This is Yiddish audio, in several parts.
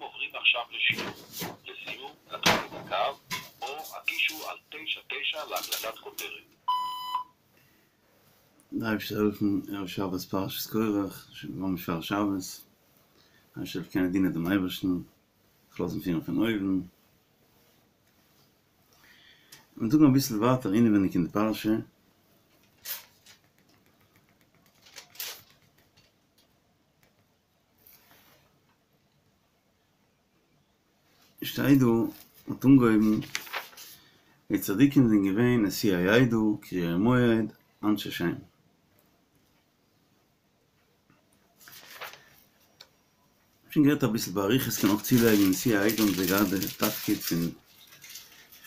עוברים עכשיו לשיעור. לסיום, לקחת את הקו, או הקישו על 99 להקלטת כותרת. דער אייבערשטער זאל העלפן ערב שבת פרשת קרח, שוין ממש פאר שבת, אייבערשטער זאל קענען דינען דעם אייבערשטן, זיך לאזן פירן פון אויבן. מיר זאגן אביסל ווייטער אינעווייניג אין די פרשה. שטייט דא, מ'האט אנגעהויבן, די צדיקים זענען געווען נשיאי העדה, קריאי מועד, אנשי שם. שוין גערעדט אביסל באריכות, קען אויך צולייגן, נשיאי העדה האבן זיי געהאט די תפקיד פון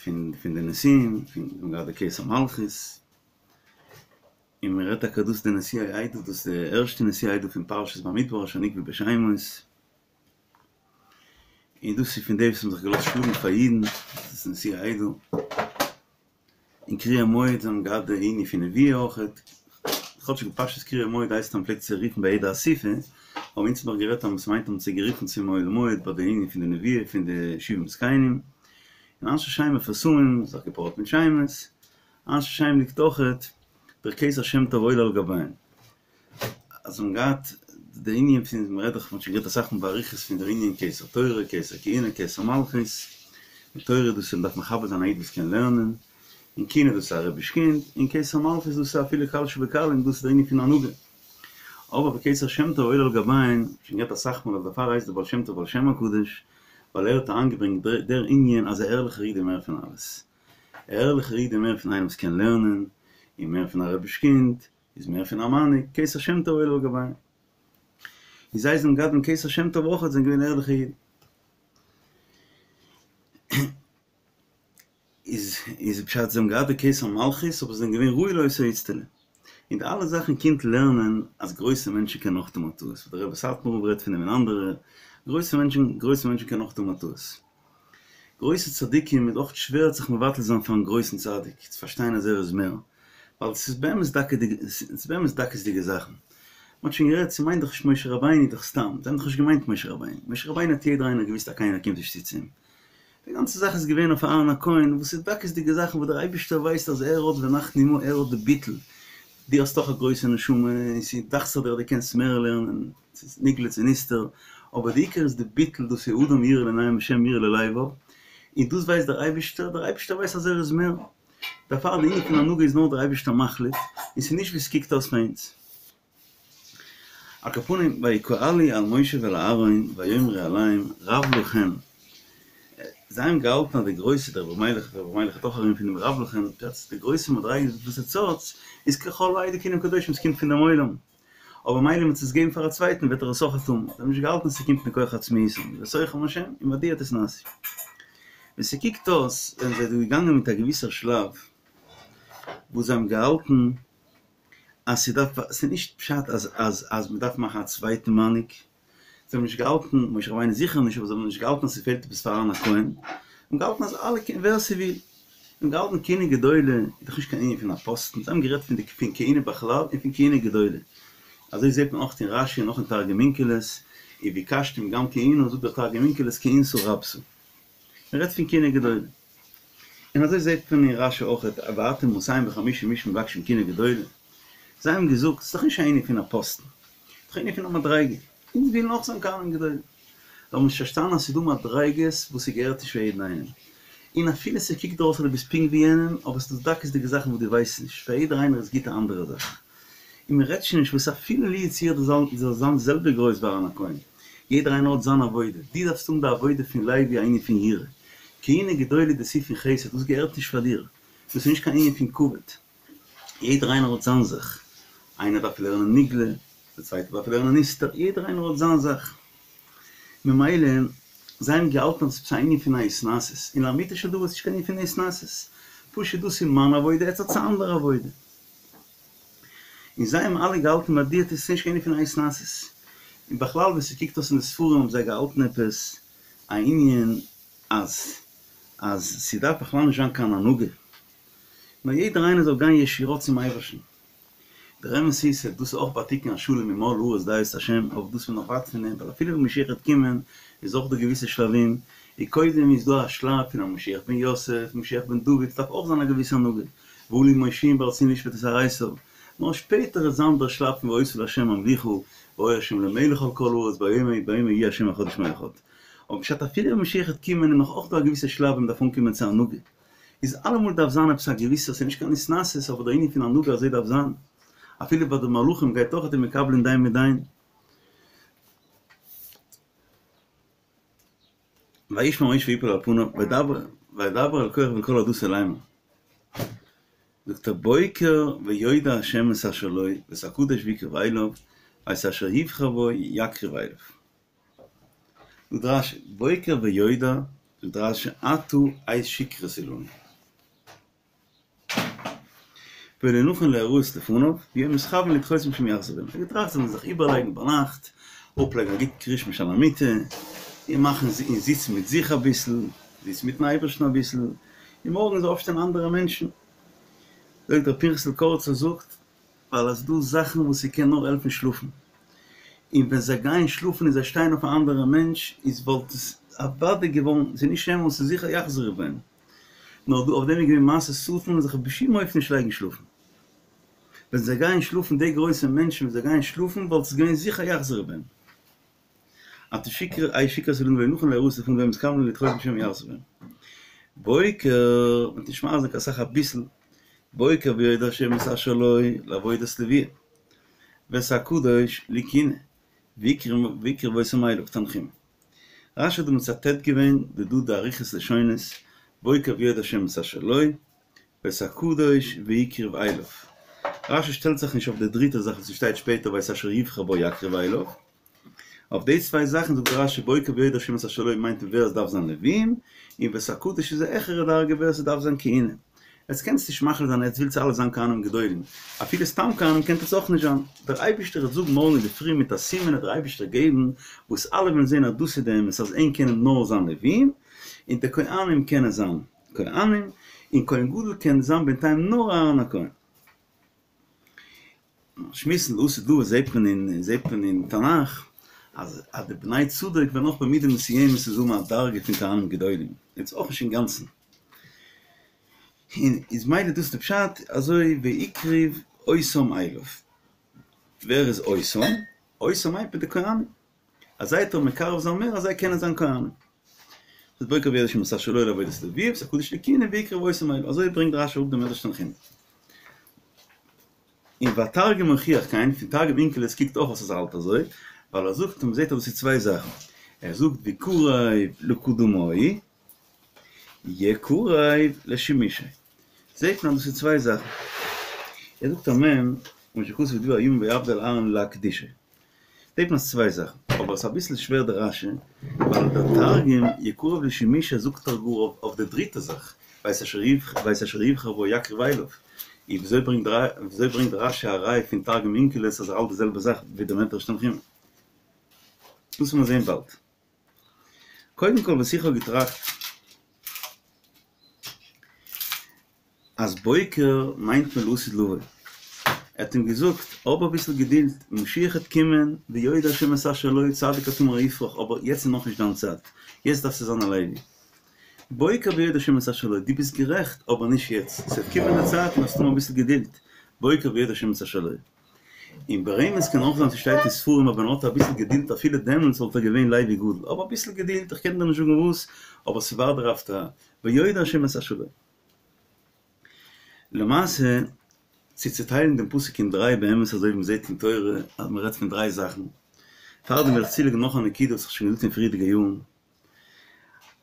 פון פון די נשיאים, פון האבן געהאט די כתר מלכות, און מען רעדט טאקע דאס די נשיאי העדה, דאס איז די ערשטע נשיאי העדה פון פרשת במדבר אשר נקבו בשמות, און דאס איז פון די וואס האבן זיך געלאזט שלאגן פאר אידן, דאס איז נשיאי העדה, און קריאי מועד זיי האבן געהאט די ענין פון נבואה אויכעט, כאטשיג בפשטות קריאי מועד הייסט אז מען פלעגט זיי רופן ביי יעדע אסיפה, אבער אונז האבן דאך גערעדט אז עס מיינט האבן זיי גערופן צום אוהל מועד ביי די ענין פון די נבואה פון די שבעים זקנים, און אנשי שם מפורסמים, זיך געפארט מיט שמות, אנשי שם ליגט אויכעט דער כתר שם טוב עולה על גביהם. אז זיי האבן געהאט די ענין פון, מען רעדט דאך, מען האט שוין גערעדט אסאך מאל באריכות פון דער ענין כתר תורה, כתר כהונה, כתר מלכות, די תורה דאס איז מען דארף מכבד זיין א איד וואס קען לערנען, און כהונה דאס איז א רביש קינד, און כתר מלכות דאס איז אפילו קל שבקלים, דאס איז דער ענין פון הנהגה. אבער בכתר שם טוב עולה על גביהם, שוין גערעדט אסאך מאל אז דערפאר הייסט דער בעל שם טוב בעל שם הקדוש, ווייל ער האט אריינגעברענגט דער ענין אז א ערליכער איד איז מער פון אלעס. א ערליכער איד איז מער פון איינעם וואס קען לערנען, און מער פון א רביש קינד, איז מער פון א מנהיג, כתר שם טוב עולה על גביהם. און זיי זענען געהאט דעם כתר שם טוב אויך, זענען געווען ערליכע אידן. איז איז פשט זיי האבן געהאט די כתר מלכות אבער זיי זענען געווען ראוי לאותו איצטלא. און די אלע זאכן קומט לערנען אז גרויסע מענטשן קענען אויך טון א טעות, וואס דער רבי סאטמאר רב רעדט פון דעם און אנדערע, גרויסע מענטשן גרויסע מענטשן קענען אויך טון א טעות. גרויסע צדיקים איז אויך שווער זיך מבטל זיין פארן גרויסן צדיק, צו פארשטיין אז ער איז מער, ווייל ס'איז באמת דקות'דיגע, ס'איז באמת דקות'דיגע זאכן. מ'האט שוין גערעדט, ס'מיינט דאך נישט משה רבינו דאך סתם, זיי האבן דאך נישט געמיינט משה רבינו, משה רבינו האט יעדער איינער געוויסט אז קיינער קומט נישט צו צו אים. די גאנצע זאך איז געווען אויף אהרן הכהן, וואס איז דקות'דיגע זאכן וואס דער אייבערשטער ווייסט אז ער האט ונחנו מה, ער האט די ביטול, דו האסט דאך א גרויסע נשמה, און ס'דאכט זיך דיר אז דו קענסט מער לערנען, ס'איז נגלה צו נסתר, אבער די עיקר איז די ביטול, דאס איז אדם יראה לעינים השם יראה ללבב, און דאס ווייסט דער אייבערשטער, דער אייבערשטער ווייסט אז ער איז מער, דערפאר די ענין פון הנהגה איז נאר דער אייבערשטער מחליט, און ס'איז נישט ווי ס'קוקט אויס פאר אונז. על כל פנים, ויקהלו על משה ועל אהרן ויאמרו אליהם רב לכם, זיי האבן געהאלטן אז די גרויסע, דער רבי מיילעך, דער רבי מיילעך האט אויך ארום פון דעם רב לכם, די גרויסע מדריגות וואס עטס האטס, איז ככל העדה כולם קדושים, ס'קומט פון דעם עולם. אבער מילא מ'וועט עס געבן פאר א צווייטן וועט ער עס אויך טון, זיי האבן נישט געהאלטן ס'קומט מכח עצמיותם, ובתוכם השם, ומדוע תתנשאו. ווי ס'קוקט אויס זענען זיי דא געגאנגען מיט א געוויסער שלב וואס זיי האבן געהאלטן אז ס'דארף, ס'איז נישט פשט אז אז אז מ'דארף מאכן א צווייטן מנהיג, זיי האבן נישט געהאלטן, משה רבינו זיכער נישט, אבער זיי האבן נישט געהאלטן אז ס'פעלט עפעס פאר אהרן הכהן, זיי האבן געהאלטן אז אלע קענען, ווער ס'וויל, זיי האבן געהאלטן כהונה גדולה איז דאך נישט קיין ענין פון א פאסטן, זיי האבן גערעדט פון די פון כהונה בכלל און פון כהונה גדולה, אזוי זעט מען אויך אין רש"י און אויך אין תרגום אונקלוס, וביקשתם גם כהונה, זאגט דער תרגום אונקלוס כהונתא רבתא, מען רעדט פון כהונה גדולה. און אזוי זעט מען אין רש"י אויך, ואתם מאתים וחמישים איש מבקשים כהונה גדולה, זיי האבן געזאגט, ס'איז דאך נישט א ענין פון א פאסטן, ס'איז דאך א ענין פון א מדריגה, אונז ווילן אויך זיין כהנים גדולים. זיי האבן נישט פארשטאנען אז ס'איז דא מדריגות וואס ס'געהערט נישט פאר יעדן איינעם, און אפילו ס'קוקט דיר אויס אז דו ביסט פונקט ווי יענעם, אבער ס'איז דא דקות'דיגע זאכן וואס דו ווייסט נישט, פאר יעדער איינער איז גוט א אנדערע זאך. און מען רעדט שוין נישט וואס אפילו לו יצויר דו זאלסט זיין די זעלבע גרויס ווי אהרן הכהן, יעדער איינער האט זיין עבודה, דו דארפסט האבן די עבודה פון לוי א ענין פון יראה, כהונה גדולה דאס איז פון חסד, דאס געהערט נישט פאר דיר, דאס איז נישט קיין ענין פון כבוד, יעדער איינער האט זיין זאך, איינער דארף לערנען נגלה, דער צווייטער דארף לערנען נסתר, יעדער איינער האט זיין זאך, ממילא זיי האבן געהאלטן אז עס איז א ענין פון א התנשאות, און לאמיתו של דבר איז נישט קיין ענין פון התנשאות, פשוט דאס איז מיין עבודה, עטס האטס א אנדערע עבודה. און זיי האבן אלע געהאלטן ביי דיר ס'איז נישט קיין ענין פון א התנשאות. און בכלל ווי ס'קוקט אויס אין די ספרים האבן זיי געהאלטן עפעס א ענין אז אז ס'דארף בכלל נישט זיין קיין הנהגה, נאר יעדער איינער זאל גיין ישירות צום אייבערשטן. דער אמת איז אז דאס איז אויך ביי תיקון השלם און מלאה הארץ דעה את השם, אבער דאס איז נאך ווייט פון דעם, ווייל אפילו ווען משיח וועט קומען איז אויך דא געוויסע שלבים, און קודם איז דא א שלב פון א משיח בן יוסף, משיח בן דוד, ס'דארף אויך זיין א געוויסע הנהגה, ועלו מושיעים בארצנו לשפוט את הר עשו, נאר שפעטער וועט זיין דער שלב פון והיתה לה' המלוכה, והיה ה' למלך על כל הארץ ביום ההוא ביום ההוא יהיה ה' אחד ושמו אחד. אבער פשט אפילו ווען משיח וועט קומען איז נאך אויך דא א געוויסע שלב ווען מ'דארף אנקומען צו הנהגה. איז אלעמאל דארף זיין עפעס א געוויסע, ס'איז נישט קיין התנשאות אבער דער ענין פון הנהגה אזוי דארף זיין. אפילו ביי די מלכים גייט אויך די מקבלין דין מדין. וישמע משה ויפל על פניו וידבר וידבר אל קרח ואל כל העדתו לאמר. זאגט ער בוקר ויודע ה' את אשר לו ואת הקדוש ויקרב אליו ואת אשר יבחר בו יקריב אליו. זאגט רש"י בוקר ויודע זאגט רש"י עתה עת שכרות הוא לנו. ולא נכון להיראות לפניו, ביום מתכוין לדחותם שמא יחזור בהם. ער האט געטראכט זיי זאלן זיך איבערלייגן ביינאכט, אפלייגן א גוט קריאת שמע שעל המיטה, און מאכן און זיצן מיט זיך אביסל, זיצן מיטן אייבערשטן אביסל, און מארגן זאל אויפשטיין אנדערע מענטשן. זאגט ר' פנחס'ל קאריצער זאגט, ווייל עס איז דא זאכן וואס ס'קען נאר העלפן שלאפן, און ווען זיי גייען שלאפן און זיי שטייען אויף א אנדערע מענטש, איז וואלט עס אוודאי געווארן, ס'איז נישט אמת, ס'איז זיכער יחזרו בהם. נאר דא אויף דעם איז געווען מעשה שטן און זיך בשום אופן נישט לייגן שלאפן. ווען זיי גייען שלאפן די גרויסע מענטשן ווען זיי גייען שלאפן וואלט עס געווען זיכער יחזרו בהם. עתה שכרות עת שכרות הוא לנו ולא נכון להיראות לפניו ביום מתכוין לדחותם שמא יחזור בהם. בוקר, מ'וועט נישט מאריך זיין קיין סאך אביסל, בוקר ויודע השם את אשר לו לעבודת לוויה ואת הקדוש לכהונה והקריב אותם אליו תנחומא. רש"י האט דא מצטט געווען די דא די אריכות לשונות, בוקר ויודע השם את אשר לו, ואת הקדוש והקריב אליו. רש"י שטעלט זיך נישט אויף די דריטע זאך וואס ס'שטייט שפעטער ואת אשר יבחר בו יקריב אליו. אויף די צוויי זאכן זאגט רש"י בוקר ויודע השם את אשר לו מיינט ווער עס דארף זיין לווים, און ואת הקדוש איז א העכערע דרגה ווער ס'דארף זיין כהונה. עטס קענטס נישט מחליט זיין עטס ווילטס אלע זיין כהנים גדולים, אפילו סתם כהנים קענט עטס אויך נישט זיין, דער אייבישטער וועט זאגן מארגן אינדערפרי מיט א סימן וועט דער אייבישטער געבן וואס אלע וועלן זען אז דאס איז די אמת אז ענק קענען נאר זיין לווים, און די כהנים קענען זיין כהנים, און כהן גדול קען זיין בינתיים נאר אהרן הכהן. שמועסן לעתיד לבוא זעט מען אין זעט מען אין תנך אז אז די בני צדוק וועלן אויך במידה מסוימת איז האבן א דרגה פון כהנים גדולים, יעצט אויך נישט אינגאנצן, און איז מילא דאס די פשט אזוי והקריב אותם אליו, ווער איז אותם? אותם מיינט מען די כהנים, אז זיי טאר מקרב זיין מער אז זיי קענען זיין כהנים. איז בוקר ויודע השם את אשר לו לעבודת לויה ואת הקדוש לכהונה והקריב אותם אליו, אזוי ברענגט רשי אראפ דעם מדרש תנחומא. און והתרגום מוכיח כן, פון תרגום אונקלוס קוקט אויך אויס אז ער האלט אזוי, ווייל ער זאגט און מ'זעט אז דאס איז צוויי זאכן, ער זאגט ויקרב לקדמוהי, יקרב לשימושיה, זעט מען אז דאס איז צוויי זאכן. ער זאגט א מ', כמו שכתוב בדבר הימים ויעבד אל אהרן להקדישו. זעט מען אז צוויי זאכן, אבער עס איז אביסל שווער די רשי, ווייל דער תרגום יקרב לשימושיה זאגט דאך גאר אויף די דריטע זאך, ואת אשר ואת אשר יבחר בו יקריב אליו, און וויאזוי ברענגט וויאזוי ברענגט רשי א ראי' פון תרגום אונקלוס אז ער האלט די זעלבע זאך ווי דער מדרש תנחומא? דאס וועט מען זען באלד. קודם כל וואס איך האב געטראכט. אז בוקר מיינט מען לעתיד לבוא. ער האט אים געזאגט, האב אביסל געדולד, משיח העט קומען, ויודע השם את אשר לו, צדיק כתמר יפרח, אבער יעצט איז נאכנישט דיין צייט, יעצט דארפסטו זיין א לוי. בוקר ויודע השם את אשר לו, דו ביסט גערעכט, אבער נישט יעצט, ס'וועט קומען די צייט און דארפסט האבן אביסל געדולד, בוקר ויודע השם את אשר לו. און ברמז קען אויך זיין ס'שטייט אין ספרים אז ווען ער האט אביסל געדולד אפילו דעמאלטס וואלט ער געווען לוי גדול, אבער אביסל געדולד, איך קען דיר נישט זאגן וואס, אבער ס'ווארט דערויף א ויודע השם את אשר לו. למעשה, צו צוטיילן דעם פסוק אין דריי באמת אזוי ווי מ'זעט אין תורה אז מ'רעדט פון דריי זאכן, פארדעם וויל איך צולייגן נאך א נקודה וואס איך האב שוין געזאגט אין פריערדיגע יארן,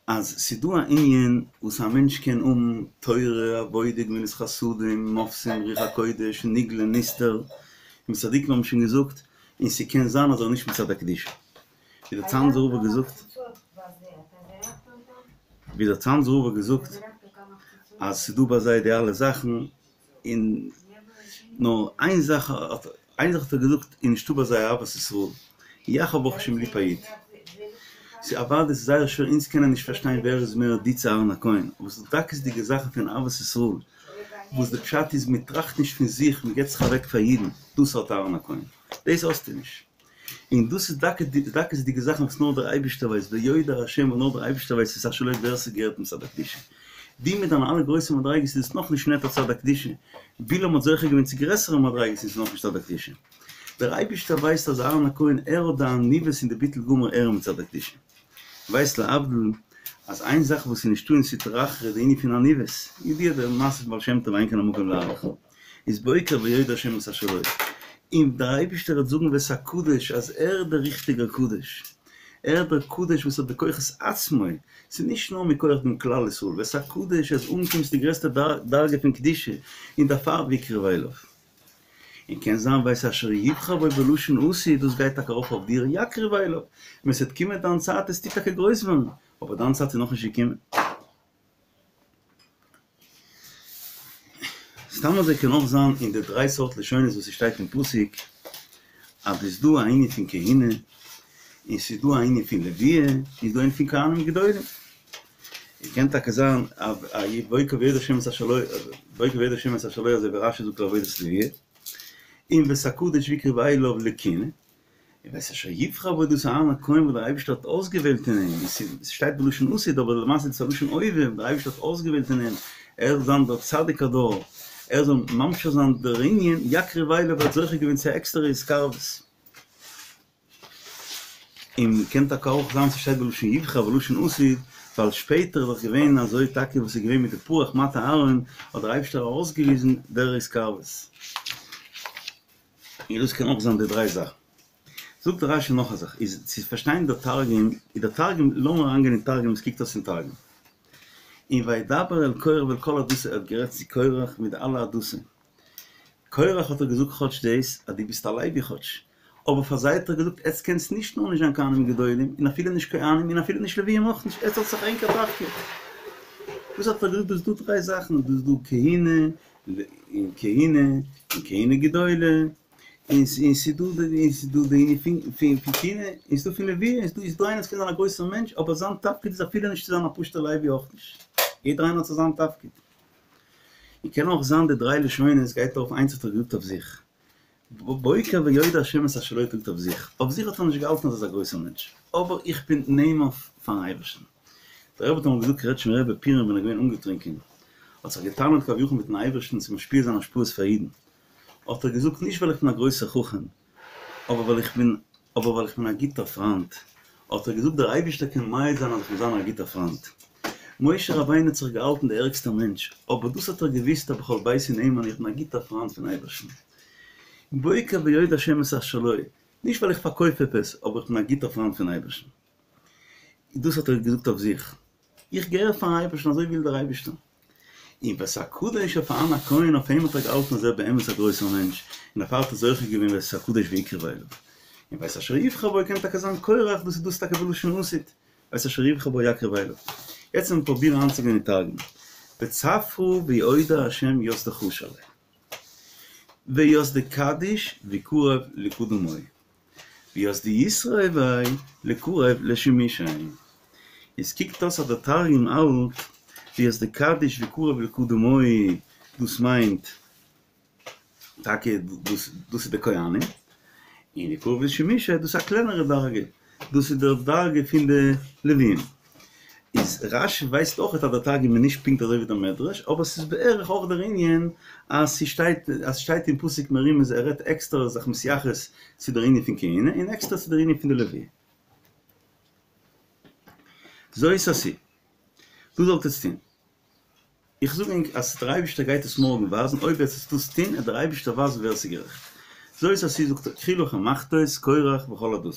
אז ס'איז דא א ענין וואס א מענטש קען האבן תורה, עבודה, גמילות חסדים, מופתים, רוח הקודש, נגלה, נסתר, און צדיקים האבן שוין געזאגט, און ס'קען זיין אז ער איז נישט מצד הקדושה. ווי דער צאנזער רב האט געזאגט, ווי דער צאנזער רב האט געזאגט אז ס'איז דא ביי זיי די אלע זאכן, און נאר איין זאך האט איין זאך האט ער געזאגט איז נישטא ביי זיי אהבת ישראל, יאך האב ברוך השם ליב א איד. ס'איז אוודאי ס'איז זייער שווער אונז קענען נישט פארשטיין ווער איז מער דו צו אהרן הכהן, אבער ס'איז דא דקות'דיגע זאכן פון אהבת ישראל. וואס די פשט איז מען טראכט נישט פון זיך, מען געבט זיך אוועק פאר אידן, דאס האט אהרן הכהן, דאס האסטו נישט. און דאס איז דוקא די דקות'דיגע זאכן וואס נאר דער אייבערשטער ווייסט, ויודע השם וואס נאר דער אייבערשטער ווייסט את אשר לו ווער ס'געהערט מצד הקדושה. דו מיט דיינע אלע גרויסע מדריגות איז עס נאכנישט נענטער צד הקדושה, בלעם האט זוכה געווען צו גרעסערע מדריגות און ס'איז נאכנישט צד הקדושה. דער אייבערשטער ווייסט אז אהרן הכהן ער האט די עניוות און די ביטול גמור ער מצד הקדושה. ווייסט להבדיל אז איין זאך וואס איז נישטא אין סטרא אחרא איז די ענין פון עניוות, ידוע די מעשה פון בעל שם טוב אין כאן המקום להאריך, איז בוקר ויודע השם את אשר לו, און דער אייבערשטער וועט זאגן ואת הקדוש אז ער איז דער ריכטיגער קדוש, ער איז דער קדוש וואס האט בכוחות עצמו, ס'איז נישט נאר מכח דעם כלל ישראל, ואת הקדוש ער איז אנגעקומען צו די גרעסטע דרגה פון קדושה, און דערפאר ויקרב אליו. און קען זיין ואת אשר יבחר בו בלשון עתיד, דאס גייט טאקע ארויף אויף דיר יקרב אליו, ווען ס'וועט קומען דיין צייט וועסטו טאקע גרויס ווערן, אבער דיין צייט איז נאכנישט געקומען. סתם אזוי קען אויך זיין אין די דריי סארט לשונות וואס ס'שטייט אין פסוק, אז ס'איז דא א ענין פון כהונה, און ס'איז דא א ענין פון לוויה, און ס'איז דא א ענין פון כהנים גדולים. און קען טאקע זיין אז בוקר ויודע השם את אשר לו, בוקר ויודע השם את אשר לו אזוי ווי רש"י זאגט לעבודת לוויה, און ואת הקדוש ויקרב אליו לכהונה, און ואת אשר יבחר בו דאס אהרן הכהן וואס דער אייבערשטער האט אויסגעוועלט אין אים, עס שטייט בלשון עתיד אבער למעשה איז עס א לשון הווה, דער אייבערשטער האט אויסגעוועלט אין אים, ער זאל זיין דער צדיק הדור, ער זאל ממשיך זיין דער ענין, יקרב אליו האט זוכה געווען צו א עקסטערע התקרבות. און קען טאקע אויך זיין ס'שטייט בלשון יבחר בלשון עתיד, ווייל שפעטער איז דאך געווען אזוי טאקע וואס איז געווען מיט די פרח מטה אהרן האט דער אייבערשטער ארויסגעוויזן דער התקרבות. און דאס קען אויך זיין די דריי זאכן. זאגט דער רש"י נאך א זאך, איז צו פארשטיין דער תרגום, איז דער תרגום, לאמיר אריינגיין אין תרגום וואס קוקט אויס אין תרגום. און וידבר אל קרח ואל כל עדתו, ער האט גערעדט צו קרח מיט די אלע עדתו. קרח האט ער געזאגט כאטש דאס אז דו ביסט א לוי כאטש, אבער פאר זיי האט ער געזאגט עטס קענטס נישט נאר נישט זיין כהנים גדולים און אפילו נישט כהנים און אפילו נישט לוויים אויך נישט, עטס האטס זיך ענקער תפקיד. וואס האט ער געזאגט דא איז דא דריי זאכן, דא איז דא כהונה און כהונה און כהונה גדולה, און ס'איז דא און ס'איז דא די ענין פון פון כהונה און ס'איז דא פון לוויה, און ס'איז דא איינער וואס קען זיין א גרויסער מענטש אבער זיין תפקיד איז אפילו נישט צו זיין א פשוט'ער לוי אויך נישט, יעדער איינער האט זיך זיין תפקיד. און קען אויך זיין די דריי לשונות גייט ארויף איינס האט ער געזאגט אויף זיך בוקר ויודע השם את אשר לו האט ער געזאגט אויף זיך, אויף זיך האט ער נישט געהאלטן אז ער איז א גרויסער מענטש, אבער איך בין נאמן פארן אייבערשטן. דער רבי האט אמאל געזאגט קרעטשמער רבי פורים ווען ער איז געווען אנגעטרינקען האט זיך געטענה'ט כביכול מיטן אייבערשטן צו משפיע זיין השפעות פאר אידן, האט ער געזאגט נישט ווייל איך בין א גרויסער חכם, אבער ווייל איך בין אבער ווייל איך בין א גוטער פריינט, האט ער געזאגט דער אייבערשטער קען מעיד זיין אז איך מוז זיין א גוטער פריינט. משה רבינו האט זיך געהאלטן דער ערגסטער מענטש, אבער דאס האט ער געוואוסט אז בכל ביתי נאמן איך בין א גוטער פריינט פון אייבערשטן. בוקר ויודע השם את אשר לו, נישט ווייל איך פארקויף עפעס, אבער איך בין א גוטער פריינט פון אייבערשטן. דאס האט ער געזאגט אויף זיך. איך געהער פארן אייבערשטן אזוי וויל דער אייבערשטער. און ואת הקדוש אויף אהרן הכהן אויף אים האט ער געהאלטן אז ער איז באמת א גרויסער מענטש, און דערפאר האט ער זוכה געווען ואת הקדוש ויקרב אליו. און ואת אשר יבחר בו קען טאקע זיין קרח, דאס איז דאס טאקע בלשון עתיד, ואת אשר יבחר בו יקרב אליו. יעצט וועלן מיר פרובירן אריינצוגיין אין תרגום. בצפרא ויודע השם ית דחשיב ליה. וית דקדיש ויקרב לקדמוי. וית דיתרעי ביה לקריב לשימושיה. עס קוקט אויס אז דער תרגום האלט וית דקדיש ויקרב לקדמוי דאס מיינט טאקע דאס דאס איז די כהנים, און ויקרב לשימושיה דאס איז א קלענערע דרגה, דאס איז די דרגה פון די לווים. איז רש"י ווייזט אויך אז דער תרגום איז נישט פונקט אזוי ווי דער מדרש, אבער ס'איז בערך אויך דער ענין אז ס'שטייט אז ס'שטייט אין פסוק מרומז ער רעדט עקסטער זיך מתייחס צו דער ענין פון כהונה און עקסטער צו דער ענין פון די לווים. זאת עשו. דאס זאלט עטס טון. איך זאג ענק אז דער אייבישטער גייט עס מארגן ווייזן, אויב וועט עטס דאס טון עט דער אייבישטער ווייזן ווער עס איז גערעכט. זאת עשו זאגט ער קחו לכם מחתות קורח וכל עדתו.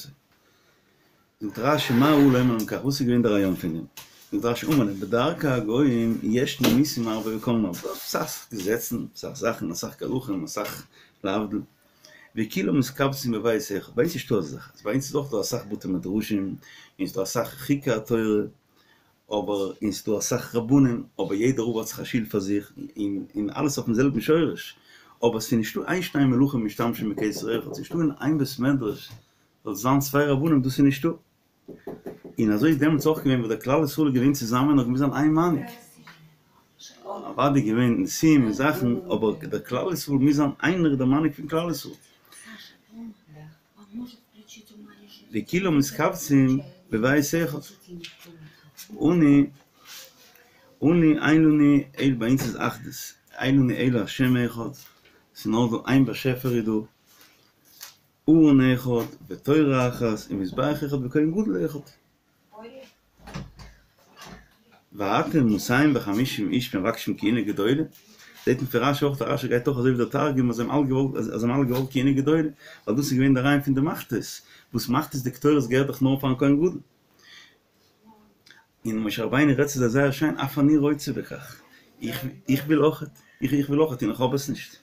זאגט רש"י מה ראה לומר להם כך, וואס איז געווען דער רעיון פון דעם? זאגט רש"י אמר להם בדרכי הגוים יש נימוסים הרבה וכל מיני, אסאך געזעצן, אסאך זאכן, אסאך גלחים, אסאך להבדיל, וכולם מתקבצים בבית אחד, ביי אונז איז נישטא אזא זאך, ביי אונז איז אויך דא אסאך בתי מדרשים, און ס'איז דא אסאך חוקי התורה, אבער און ס'דא אסאך רבנים, אבער יעדער רב האט זיך א שול פאר זיך, און און אלעס אויפן זעלבן שורש, אבער ס'איז נישטא אין שני מלכים משתמשים בכתר אחד, ס'איז נישטא אין איין בית מדרש זאל זיין צוויי רבנים, דאס איז נישטא. און אזוי איז דעמאלטס אויך געווען וואס דער כלל ישראל איז געווען צוזאמען האט געמוזט זיין איין מנהיג. אוודאי געווען נסים און זאכן, אבער דער כלל ישראל מוז זיין איינער דער מנהיג פון כלל ישראל. וכולם מתקבצים בבית אחד. אנו אנו אין לנו אלא ביי אונז איז אחדות, אין לנו אלא השם אחד, ס'איז נאר דא איין באשעפער איז דא, ארון אחד ותורה אחת ומזבח אחד וכהן גדול אחד. ואתם מאתים וחמישים איש מבקשים כהונה גדולה, זעט מען פון רשי אויך, רשי גייט אויך אזוי ווי דער תרגום אז זיי האבן אלע געוואלט אז זיי האבן אלע געוואלט כהונה גדולה, ווייל דאס איז געווען דער רעיון פון די מחתות, וואס מחתות די קטורת געהערט דאך נאר פארן כהן גדול. און משה רבינו רעדט צו זיי זייער שיין, אף אני רוצה בכך, איך וויל אויכעט, איך וויל אויכעט און איך האב עס נישט.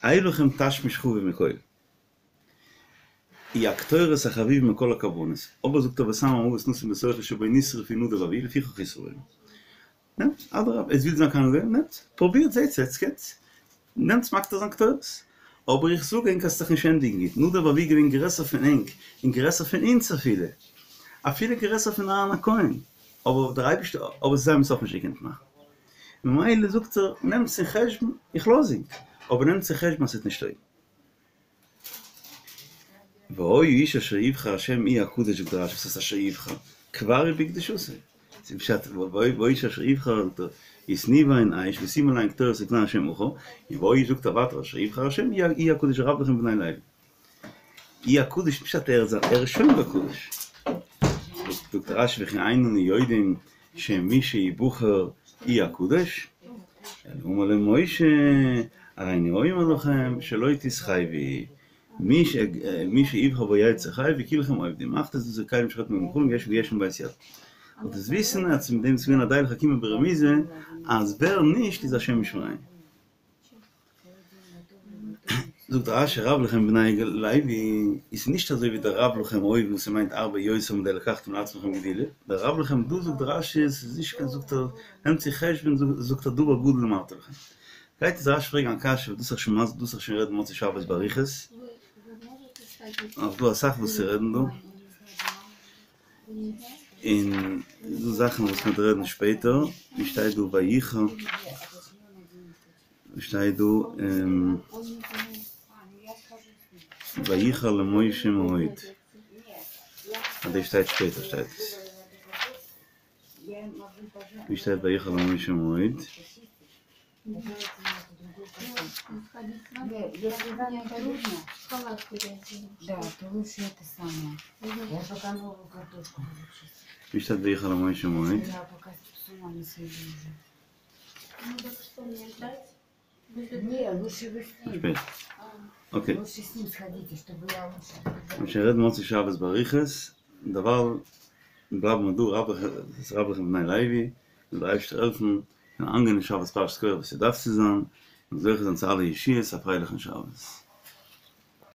אי לכם תשמיש חביב מכל. הוא הקטורת החביב מכל הקרבנות, אבער זאגט ער וסם המוות נסים בתוכו שבו נשרפו נדב ואביהוא לפיכך ישרפום. נעמט, אדרבה, עטס ווילט זיין כהן גדול, נעמט, פרובירט, זעטס, עטס קענטס, נעמטס מקטיר זיין קטורת. אבער איך זאג ענק אז ס'וועט זיך נישט ענדיגן גוט, נדב ואביהוא געווען גרעסער פון ענק, און גרעסער פון אונז אפילו, אפילו גרעסער פון אהרן הכהן, אבער דער אייבערשטער, אבער זיי האבן עס אויך נישט געקענט מאכן. ממילא זאגט ער, נעמטס אין חשבון, איך לאז ענק, אבער נעמטס אין חשבון אז ס'וועט נישט טויגן. והיה האיש אשר יבחר השם הוא הקדוש זאגט רשי וואס הייסט אשר יבחר? כבר הוא בקדושתו ס'איז פשט והיה האיש אשר יבחר זאגט ער ותנו בהן אש ושימו עליהן קטורת לפני השם מחר און והיה זאגט ער ווייטער אשר יבחר השם הוא הקדוש רב לכם בני לוי הוא הקדוש פשט ער איז ער איז שוין בקדוש זאגט רשי וכי אין אנו יודעים שמי שיבחר הוא הקדוש, אלא אמר להם משה, הריני אומר לכם שלא תתחייבו, מי שיבחר בו יצא חי וכולכם אובדים, מחתות דאס איז כלים שחוטפים ומאכלים יש ויש מבית יד. זאלט עטס וויסן אז מיט דעם איז געווען א די לחכימא ברמיזא אז ווער נישט איז השם ישמרינו. זאגט רשי רב לכם בני לוי איז נישט אזוי ווי דער רב לכם אויבן וואס ס'מיינט הרבה יותר מדעי לקחתם לעצמכם גדולה, דער רב לכם דא זאגט רשי ס'איז נישט קיין זאגט ער נעמט צו חשבון זאגט ער דבר גדול אמרתי לכם. גייט איז רשי פרעגן א קשיא וואס דאס איך שוין דאס איך שוין רעדן מוצאי שבת באריכות, נאך דא אסאך וואס צו רעדן דא. און דא זאכן וואס מ'וועט רעדן שפעטער, ווי שטייט דא ויחר, ווי שטייט דא ויחר למשה מאוד, אה דאס שטייט שפעטער שטייט עס, ווי שטייט ויחר למשה מאוד? ווי שטייט ויחר למשה מאוד? אקעי. מ'וועט רעדן מוצאי שבת באריכות, דערווייל בלייבן מיר דא, רב לכם בני לוי, זאל דער אייבערשטער העלפן און אנגיין אין שבת פרשת קרח ווי ס'דארף צו זיין, און זוכה זיין צו אלע ישועות, א פרייליכן שבת.